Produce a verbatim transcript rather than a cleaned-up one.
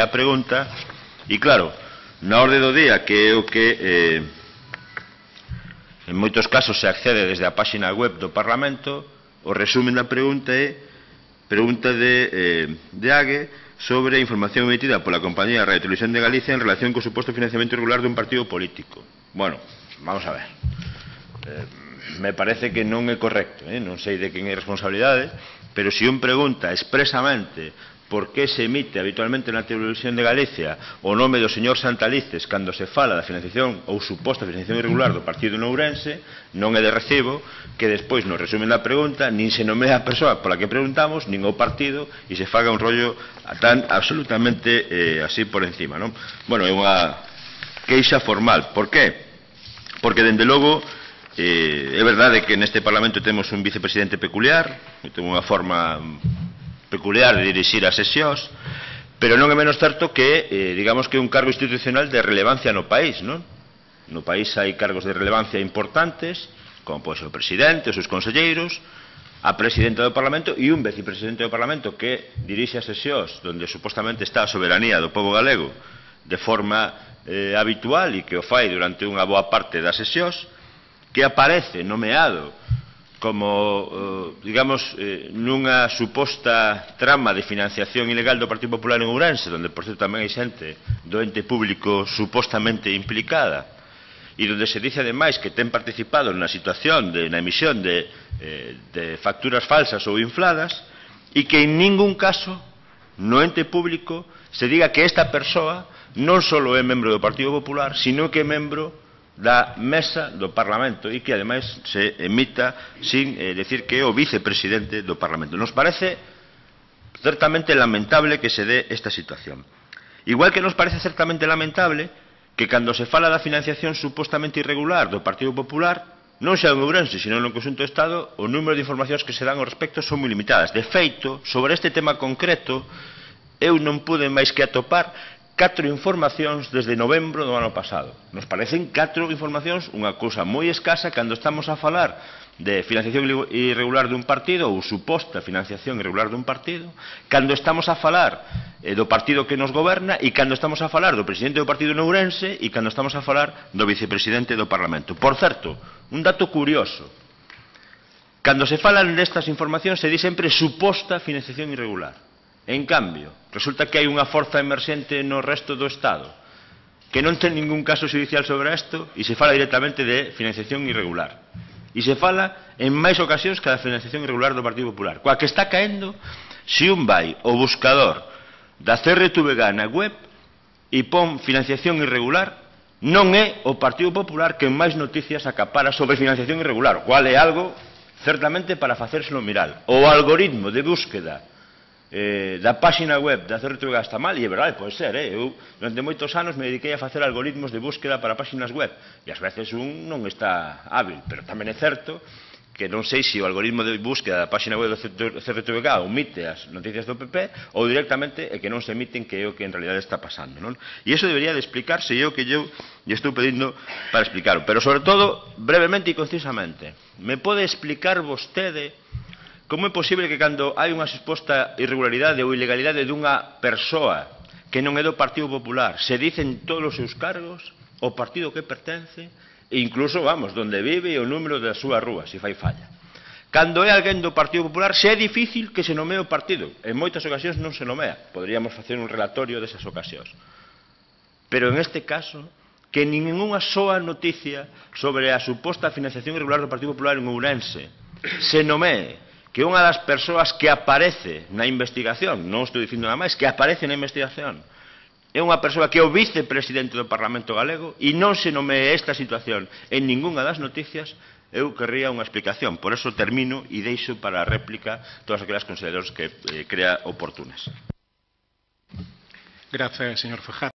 a pregunta e, claro, na orde do día, que é o que eh, en moitos casos se accede desde a páxina web do Parlamento, o resumen da pregunta é pregunta de, eh, de Ague sobre a información emitida pola compañía Radio Televisión de Galicia en relación co suposto financiamento irregular dun partido político. Bueno, vamos a ver. Eh, me parece que non é correcto, eh? Non sei de quen é responsabilidade, pero se un pregunta expresamente por que se emite habitualmente na Televisión de Galicia o nome do señor Santalices cando se fala da financiación ou suposta financiación irregular do partido de Ourense, non é de recibo que despois nos resumen da pregunta nin se nomea a persoa pola que preguntamos, nin o partido, e se faga un rollo tan absolutamente eh, así por encima, non? Bueno, é unha queixa formal. Por qué? Porque, dende logo, eh, é verdade que neste Parlamento temos un vicepresidente peculiar, que ten unha forma peculiar de dirixir as sesións, pero non é menos certo que, eh, digamos que é un cargo institucional de relevancia no país, non? No país hai cargos de relevancia importantes, como pode ser o presidente, os seus conselleiros, a presidenta do Parlamento e un vicepresidente do Parlamento que dirixe as sesións donde supostamente está a soberanía do pobo galego de forma eh, habitual e que o fai durante unha boa parte das sesións, que aparece nomeado como, eh, digamos, eh, nunha suposta trama de financiación ilegal do Partido Popular en Ourense, donde, por certo, tamén hai xente do ente público supostamente implicada, e donde se dice, ademais, que ten participado na situación, de, na emisión de, eh, de facturas falsas ou infladas, e que en ningún caso, no ente público, se diga que esta persoa non só é membro do Partido Popular, sino que é membro da mesa do Parlamento e que, ademais, se emita sin eh, decir que é o vicepresidente do Parlamento. Nos parece certamente lamentable que se dé esta situación. Igual que nos parece certamente lamentable que cando se fala da financiación supostamente irregular do Partido Popular, non xa en Ourense, sino no conxunto do Estado, o número de informacións que se dan ao respecto son moi limitadas. De feito, sobre este tema concreto, eu non pude máis que atopar catro informacións desde novembro do ano pasado. Nos parecen catro informacións unha cousa moi escasa cando estamos a falar de financiación irregular dun partido ou suposta financiación irregular dun partido, cando estamos a falar eh, do partido que nos goberna e cando estamos a falar do presidente do partido en Ourense e cando estamos a falar do vicepresidente do Parlamento. Por certo, un dato curioso. Cando se falan destas informacións se di sempre suposta financiación irregular. En cambio, resulta que hai unha forza emerxente no resto do Estado que non ten ningún caso judicial sobre isto e se fala directamente de financiación irregular. E se fala en máis ocasións que da financiación irregular do Partido Popular. Coa que está caendo, se un vai ao buscador da C R T V G na web e pon financiación irregular, non é o Partido Popular que máis noticias acapara sobre financiación irregular, o cual é algo certamente para facérselo mirar. O algoritmo de búsqueda Eh, da páxina web da C R T V G está mal, e é verdade, pode ser, eh? Eu durante moitos anos me dediquei a facer algoritmos de búsqueda para páxinas web e ás veces un non está hábil, pero tamén é certo que non sei se o algoritmo de búsqueda da páxina web do C R T V G omite as noticias do P P ou directamente é que non se emiten, que é o que en realidad está pasando, non? E iso debería de explicarse, e é o que eu lle estou pedindo para explicarlo, pero sobre todo brevemente e concisamente. Me pode explicar vostede como é posible que cando hai unha suposta irregularidade ou ilegalidade dunha persoa que non é do Partido Popular se dicen todos os seus cargos, o partido que pertence e incluso, vamos, donde vive e o número da súa rúa, se fai falla. Cando é alguén do Partido Popular se é difícil que se nomee o partido. En moitas ocasións non se nomea. Poderíamos facer un relatorio desas ocasións. Pero en este caso, que ningunha soa noticia sobre a suposta financiación irregular do Partido Popular en Ourense se nomee que unha das persoas que aparece na investigación, non estou dicindo nada máis, que aparece na investigación, é unha persoa que é o vicepresidente do Parlamento galego e non se nomee esta situación en ningunha das noticias, eu querría unha explicación. Por eso termino e deixo para a réplica todas aquelas consideracións que eh, crea oportunas. Gracias, señor Fajardo.